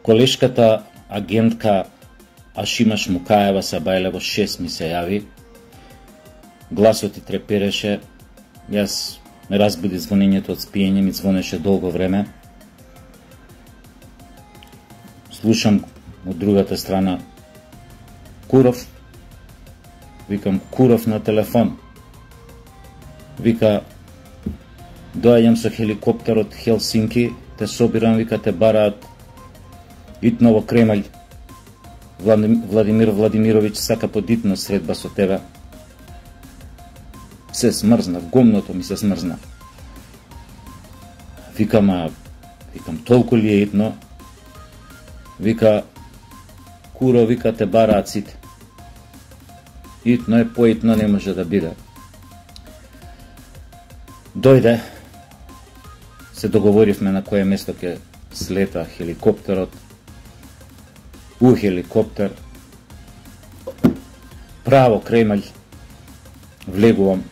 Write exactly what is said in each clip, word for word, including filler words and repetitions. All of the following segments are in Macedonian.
колешката агентка Ашима Шмукаева Сабајлево шест ми се јави. Гласот и трепереше. Јас ме разбуди звонењето од спиење, ми звонеше долго време. Слушам од другата страна Куров. Викам Куров на телефон. Вика, доаѓам со хеликоптер од Хелсинки, те собирам, вика, те бараат итно во Кремљ. Владимир Владимирович сака подитно средба со тебе. Се смрзнав, гомното ми се смрзна. Викам, а, викам, толку ли е итно? Вика, Куро, вика, те бараат сите. Итно е, поитно не може да биде. Дојде, се договоривме на кое место ќе слета хеликоптерот. У хеликоптер, право Кремљ, влегувам.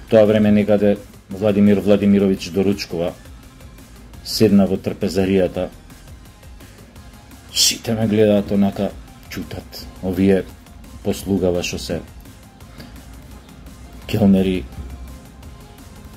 Тоа време некаде Владимир Владимирович доручкува, седна во трпезаријата. Сите ме гледаат онака, чутат. Овие послугава што се келнери,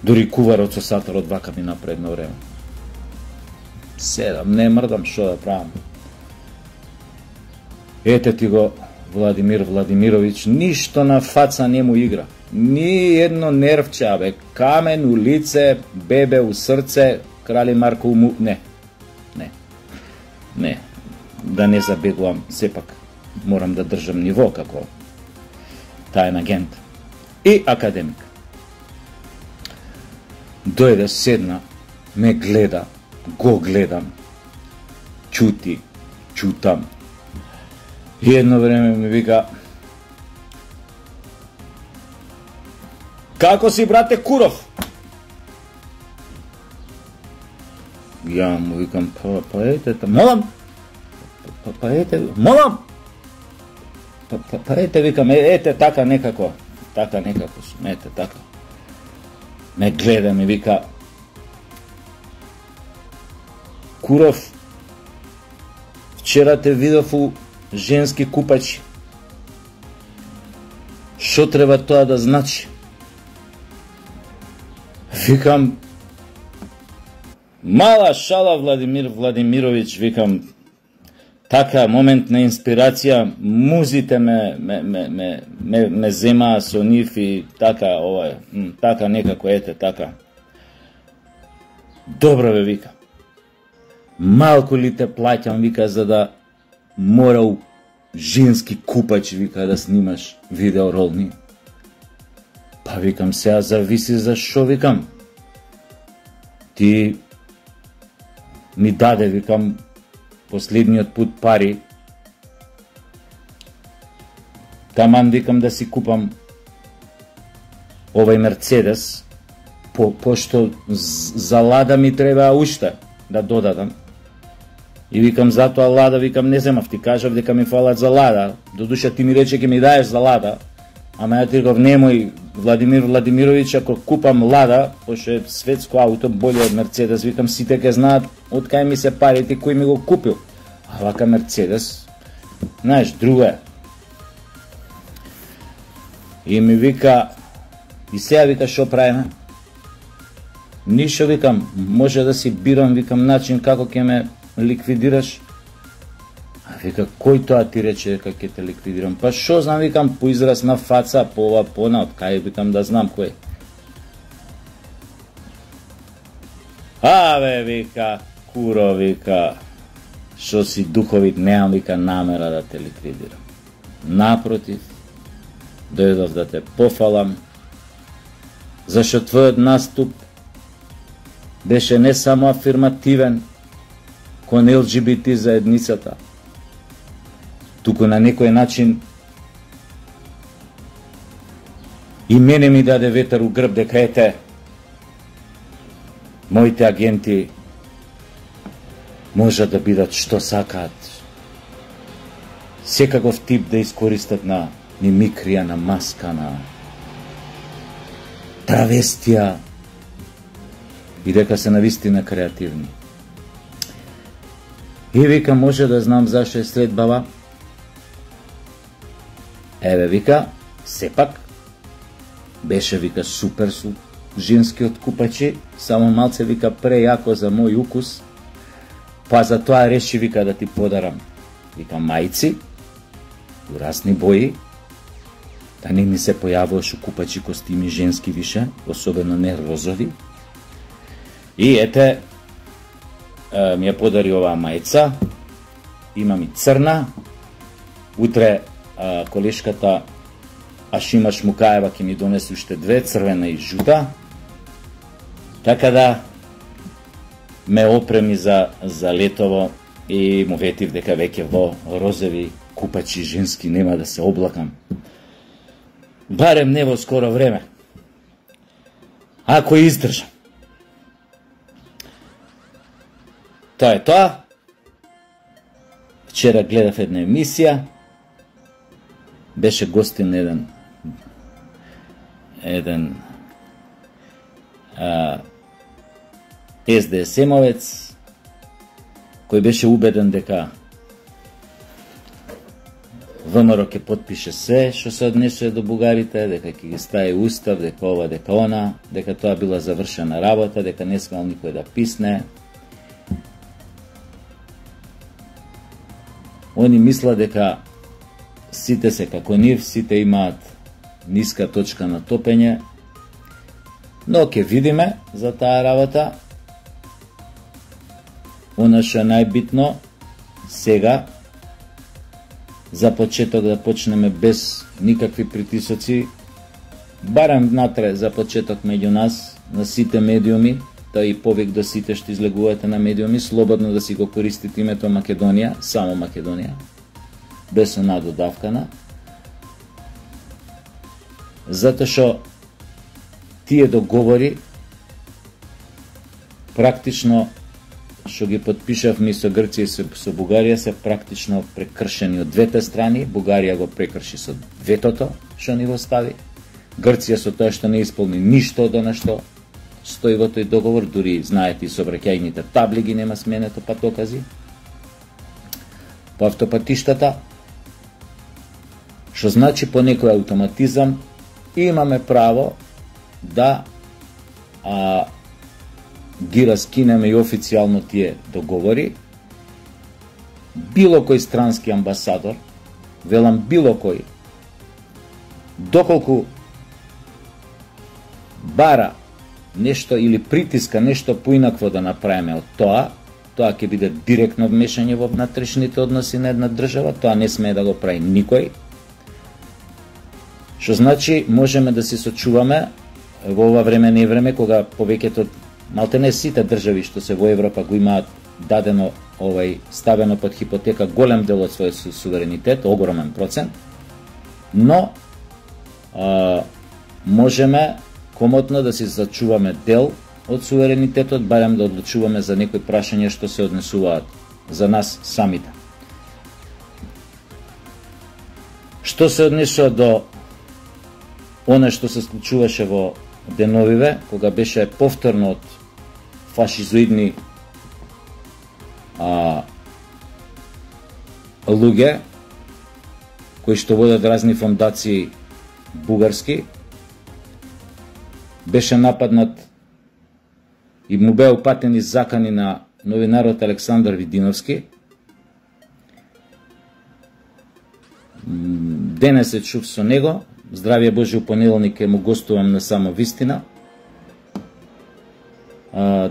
дури куварот со сатарот вака ми напредно време. Седам, не мрдам, шо да правам. Ете ти го Владимир Владимирович, ништо на фаца не му игра. Ни едно нервче, абе, камен у лице, бебе у срце, крали Марко у му... Не, не, не, да не забегувам, сепак морам да држам ниво како таен агент. И академик. Дојде, седна, ме гледа, го гледам, чути, чутам. И едно време ми вика, како си, брате Куров? Ја му викам, па, па ете, молам, па, па ете, молам, па, па, па ете, викам, ете, така некако, така некако, ете, така. Ме гледа, ми вика, Куров, вчера те видов у женски купачи. Шо треба тоа да значи? Викам, мала шала Владимир Владимирович, викам, така моментна инспирација, музите ме ме ме ме ме, ме земаа со нив и така ова, така некако ете така. Добро ве, вика. Малку ли те плаќам, вика, за да морал женски купач, вика, да снимаш видеоролни. Па викам, сега зависи за шо, викам. Ти ми даде, викам, последниот пут пари. Таман, викам, да си купам овај Мерцедес, по, пошто за Лада ми треба уште да додадам. И викам, затоа Лада, викам, не земав, ти кажав дека ми фалат за Лада. Додуша ти ми рече ке ми даеш за Лада, ама ја ти реков, немој, Владимир Владимирович, ако купам Лада, пошто е светско ауто, боле од Мерцедес, викам, сите ке знаат од кај ми се парите, кој ми го купил. А вака Мерцедес, знаеш, друго е. И ми вика, и сега, вика, шо правиме? Ништо, викам, може да си бирам, викам, начин како ќе ме ликвидираш. А вика, кој тоа ти рече дека ќе те ликвидирам? Па шо знам, викам, по израз на фаца, по ова, по она, од кај, викам, да знам кој. Абе, вика, Куро, вика, шо си духовит, немам, вика, намера да те ликвидирам. Напротив, дојдов да те пофалам, зашто твојот наступ беше не само афирмативен кон Ел Џи Би Ти заедницата, туку на некој начин и мене ми даде ветер у грб дека ете, моите агенти можат да бидат што сакаат. Секаков тип да искористат на мимикрија, на маска, на травестија и дека се навистина креативни. И вика, може да знам зашто е след баба. Еве, вика, сепак беше, вика, супер со женскиот купачи, само малце, вика, прејако за мој укус, па за тоа реши, вика, да ти подарам, вика, мајци, урасни бои, да не ми се појавуваш у купачи костими женски више, особено не розови. И ете, ми ја подари оваа мајца, имам и црна, утре а, колешката Ашима Шмукаева ќе ми донесе уште две, црвена и жута, така да ме опреми за, за летово и му ветив дека веќе во розови купачи женски нема да се облакам. Барем не во скоро време. Ако издржам. Тоа е тоа. Вчера гледав една емисија. Беше гостин еден еден а, Ес Де Ес Емовец кој беше убеден дека ВМРО ќе потпише се што се однесува до бугарите, дека ќе ги стави устав, дека ова, дека она, дека тоа била завршена работа, дека не смел никој да писне. Они мисла дека сите се како нив, сите имаат ниска точка на топење, но ќе видиме за таа работа. Она што е најбитно сега, за почеток да почнеме без никакви притисоци, барем натре за почеток меѓу нас, на сите медиуми, тоа и повик до сите што излегувате на медиуми, слободно да си го користите името Македонија, само Македонија, без она додавкана, затоа што тие договори практично што ги потпишавме со Грција и со, со Бугарија се практично прекршени од двете страни. Бугарија го прекрши со ветото што ни го стави. Грција со тоа што не исполни ништо од она што стои во тој договор, дури знаете и сообраќајните табли ги нема сменето патокази по автопатиштата, што значи по некој автоматизам имаме право да а, ги раскинеме и официјално тие договори. Било кој странски амбасадор, велам било кој, доколку бара нешто или притиска нешто поинакво да направиме од тоа, тоа ќе биде директно вмешање во внатрешните односи на една држава, тоа не смее да го прави никој. Што значи можеме да се сочуваме во ова време не време кога повеќето малтене сите држави што се во Европа го имаат дадено овај ставено под хипотека голем дел од својот суверенитет, огромен процент, но а, можеме комотно да си зачуваме дел од суверенитетот, барем да одлучуваме за некои прашања што се однесуваат за нас самите. Што се однесува до оно што се случуваше во деновиве, кога беше повторно од фашизоидни а, луѓе кои што водат разни фондации бугарски, беше нападнат и му беа упатени закани на новинарот Александар Видиновски. Денес се чув со него, здравје Божи, у понеделник ќе му гостувам на Само Вистина. А,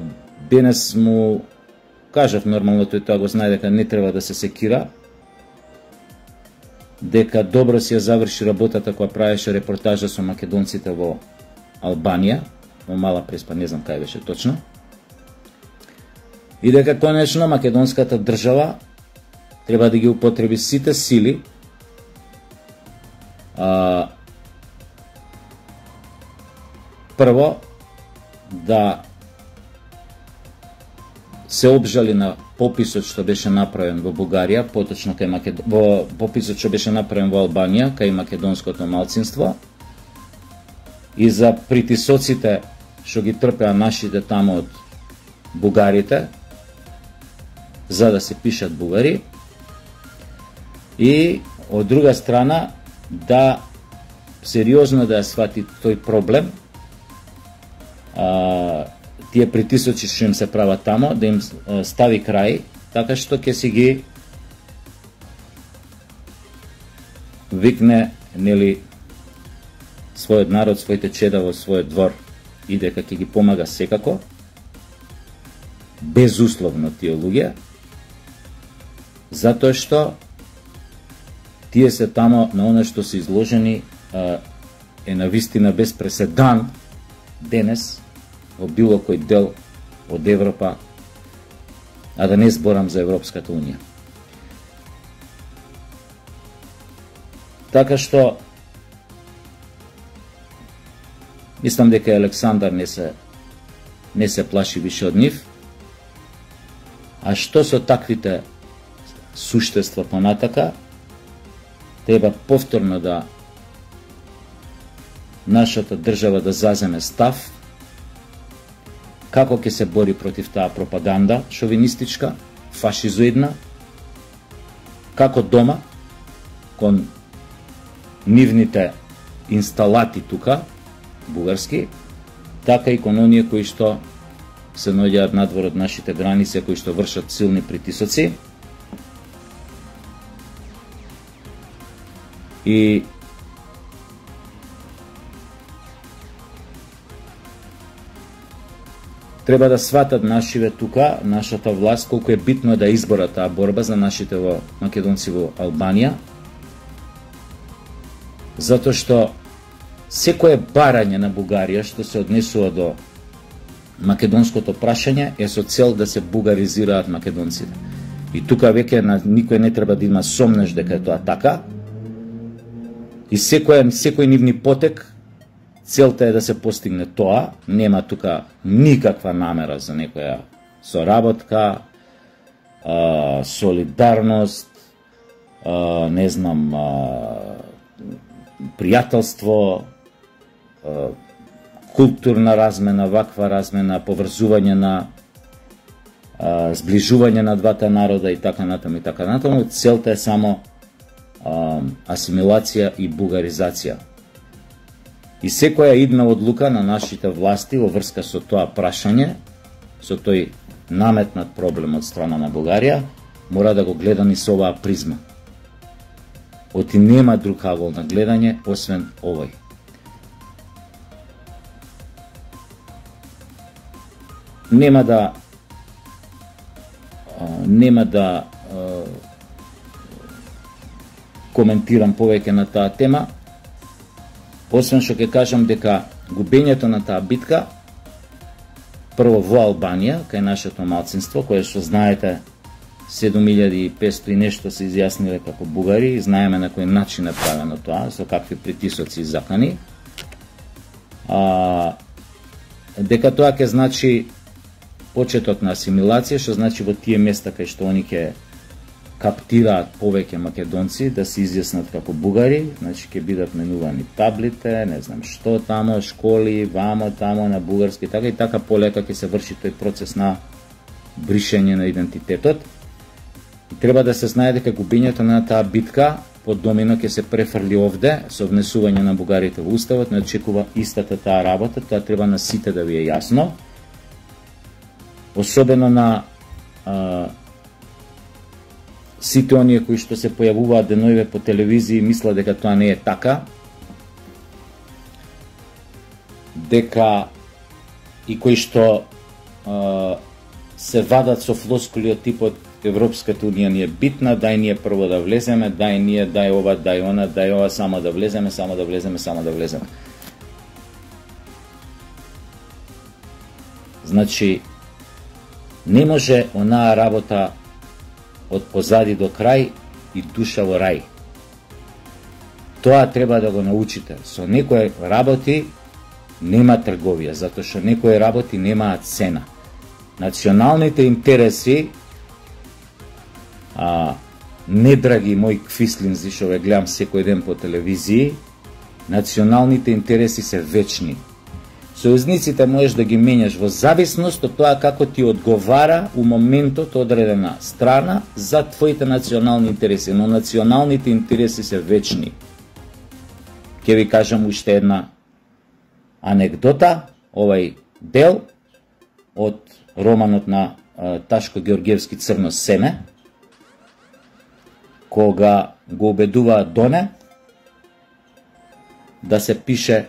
денес му кажав, нормално тој тоа го знае, дека не треба да се секира, дека добро си ја заврши работата која правеше репортажа со македонците во Албанија, во Мала Преспа, не знам кај беше точно, и дека конечно македонската држава треба да ги употреби сите сили а, прво да се обжали на пописот што беше направен во Бугарија, поточно кај Македон... во пописот што беше направен во Албанија, кај македонското малцинство, и за притисоците што ги трпеа нашите тамо од бугарите, за да се пишат бугари, и од друга страна да сериозно да ја свати тој проблем, а, тие притисоци што им се прават тамо, да им стави крај, така што ќе си ги викне, нели, својот народ, своите чеда во својот двор, и дека ќе ги помага секако, безусловно тие луѓе, затоа што тие се тамо на оно што се изложени, е навистина без преседан денес во било кој дел од Европа, а да не зборам за Европската унија. Така што мислам дека Александар не се не се плаши више од нив. А што со таквите суштества понатака, треба повторно да нашата држава да заземе став како ќе се бори против таа пропаганда шовинистичка, фашизоидна, како дома кон нивните инсталати тука, бугарски, така и кон оние кои што се наоѓаат надвор од нашите граници, кои што вршат силни притисоци. И треба да сватат нашиве тука, нашата власт, колку е битно да избора таа борба за нашите во македонци во Албанија, затоа што секое барање на Бугарија што се однесува до македонското прашање е со цел да се бугаризираат македонците. И тука веќе на никој не треба да има сомнеш дека е тоа така. И секој секој нивни потек, целта е да се постигне тоа, нема тука никаква намера за некоја соработка, а, солидарност, а, не знам, а, пријателство, а, културна размена, ваква размена, поврзување на а, зближување на двата народа и така натаму и така натаму. Целта е само а, асимилација и бугаризација. И секоја идна одлука на нашите власти во врска со тоа прашање, со тој наметнат проблем од страна на Бугарија, мора да го гледа ни со оваа призма. Оти нема друг агол на гледање освен овој. Нема да нема да коментирам повеќе на таа тема, освен што ќе кажам дека губењето на таа битка прво во Албанија, кај нашето малцинство, кое што знаете седум илјади и петстотини и нешто се изјасниле како бугари, и знаеме на кој начин е правено тоа, со какви притисоци и закани, а, дека тоа ќе значи почеток на асимилација, што значи во тие места кај што они ќе каптираат повеќе македонци да се изјаснат како бугари, значи ќе бидат менувани таблите, не знам што тамо, школи, вамо, тамо на бугарски, така и така полека ќе се врши тој процес на бришење на идентитетот. И треба да се знае дека губењето на таа битка под домино ќе се префрли овде со внесување на бугарите во уставот, не очекува истата таа работа, тоа треба на сите да ви е јасно. Особено на а, сите оние кои што се појавуваат деноиве по телевизија и мислат дека тоа не е така, дека и кои што а, се вадат со флоскули од типот Европската унија ни е битна, дај ние прво да влеземе, дај ние, дај ова, дај она, дај ова, само да влеземе, само да влеземе, само да влеземе. Значи, не може онаа работа од позади до крај и душа во рај. Тоа треба да го научите. Со некои работи нема трговија, затоа што некои работи немаат цена. Националните интереси, а, не драги мои квислинзи што ве гледам секој ден по телевизии, националните интереси се вечни. Сојузниците можеш да ги менјаш во зависност од тоа како ти одговара у моментот одредена страна за твоите национални интереси, но националните интереси се вечни. Ќе ви кажам уште една анекдота, овај дел од романот на Ташко Георгиевски Црно семе, кога го убедуваат Доне да се пише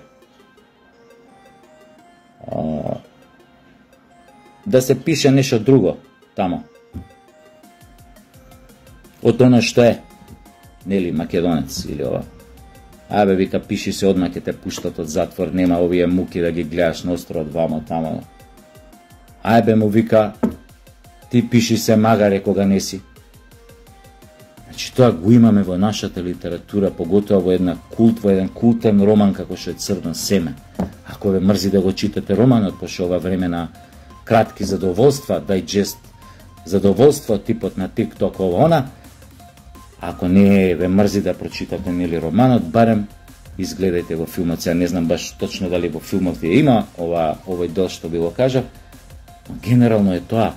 да се пише нешто друго тамо од оно што е, нели, македонец или ова. Абе, вика, пиши се, одма ќе те пуштат од затвор, нема овие муки да ги гледаш на островот вамо тамо. Ајбе, му вика, ти пиши се, магаре кога не си. Значи, тоа го имаме во нашата литература, поготоа во една култ, во еден култен роман како што е Црно семе. Ако ве мрзи да го читате романот, пошто ова време на кратки задоволства, дајджест задоволство, типот на TikTok ова она, ако не ве мрзи да прочитате нели романот, барем изгледајте го филмот. Сега не знам баш точно дали во филмот ви има ова овој дел што би го кажав, но генерално е тоа.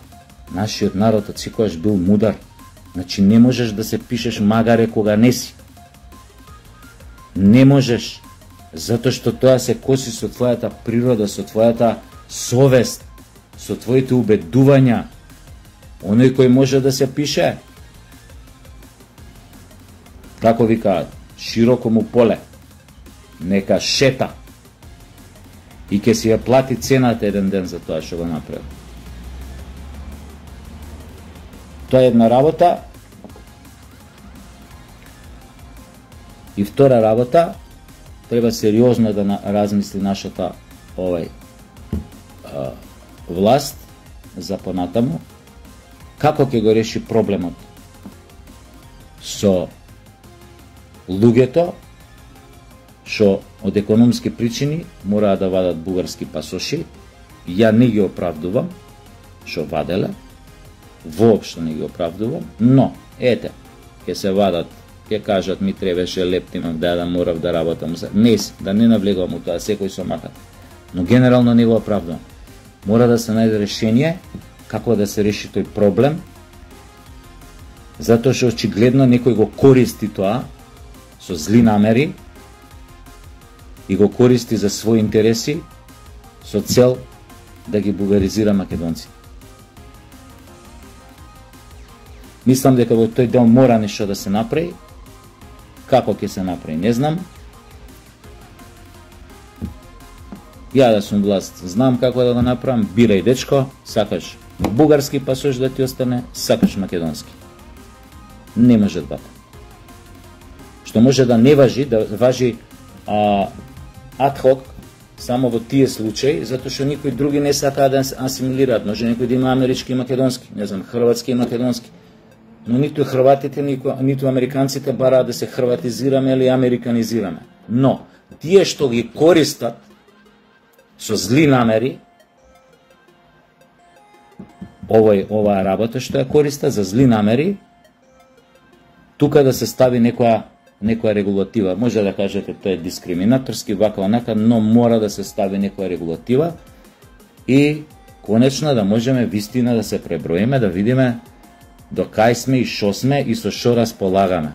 Нашиот народ од секојаш бил мудар. Значи не можеш да се пишеш магаре кога не си. Не можеш, затоа што тоа се коси со твојата природа, со твојата совест, со твоите убедувања. Оној кој може да се пише, како викаат, широко му поле, нека шета и ќе си ја плати цената еден ден за тоа што го направи. Тоа е една работа. И втора работа, треба сериозно да размисли нашата овај а, власт за понатаму, како ќе го реши проблемот со луѓето што од економски причини мораат да вадат бугарски пасоши. Ја не ги оправдувам што ваделе, воопшто не ги оправдувам, но ете, ќе се вадат, ќе кажат ми требаше лептимам да да морав да работам. Не, да не навлегувам у тоа, секој со махат. Но генерално не го оправдувам. Мора да се најде решение како да се реши тој проблем, затоа што очигледно некој го користи тоа со зли намери и го користи за своји интереси со цел да ги бугаризира македонци. Мислам дека во тој дел мора нешто да се направи. Како ќе се направи, не знам. Ја да сум власт, знам како да го направам. Бирај, дечко, сакаш бугарски пасош да ти остане, сакаш македонски. Не може двата. Што може да не важи, да важи а, адхок, само во тие случаи, затоа што никои други не сакаат да асимилираат. Може некој да има амерички и македонски, не знам, хрватски и македонски. Но ниту хрватите, ниту американците бараат да се хрватизираме или американизираме. Но, тие што ги користат со зли намери, овој, оваа работа што ја користат за зли намери, тука да се стави некоја, некоја регулатива. Може да кажете тоа е дискриминаторски, вака онака, но мора да се стави некоја регулатива и конечно да можеме вистина да се преброиме, да видиме до кај сме и шо сме и со шо располагаме.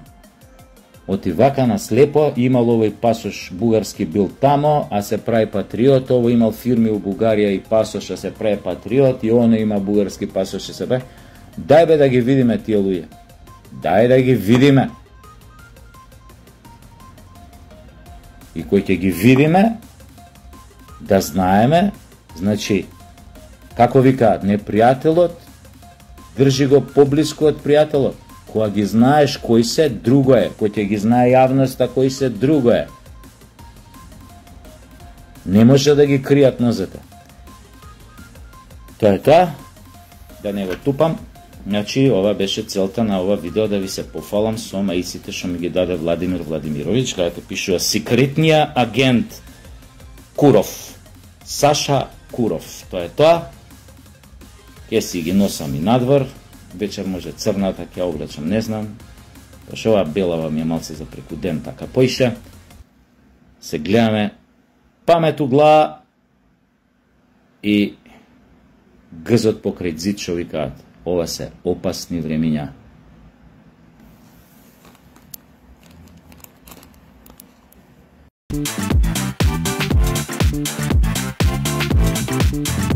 Оти вака на слепо имал овој пасош бугарски бил тамо, а се прави патриот, ово имал фирми у Бугарија и пасош, а се прави патриот, и оно има бугарски пасош, а се прави. Дај бе да ги видиме тие луѓе. Дај да ги видиме. И кој ќе ги видиме, да знаеме, значи, како викаат, непријателот држи го поблиску од пријателот. Кога ги знаеш кои се, друго е. Кој ќе ги знае јавноста кои се, друго е. Не може да ги кријат нозете. Тоа е тоа. Да не го тупам. Значи, ова беше целта на ова видео, да ви се пофалам со маиците што ми ги даде Владимир Владимирович, каде пишува секретниот агент Куров. Саша Куров. Тоа е тоа. Ке си ги носам и надвор. Вечер може црната, ќе облечам, не знам. Пошто ова белава ми е малце за преку ден, така поише. Се гледаме. Памет у глава. и гзот покрај зид што викаат, ова се опасни времиња. Thank you.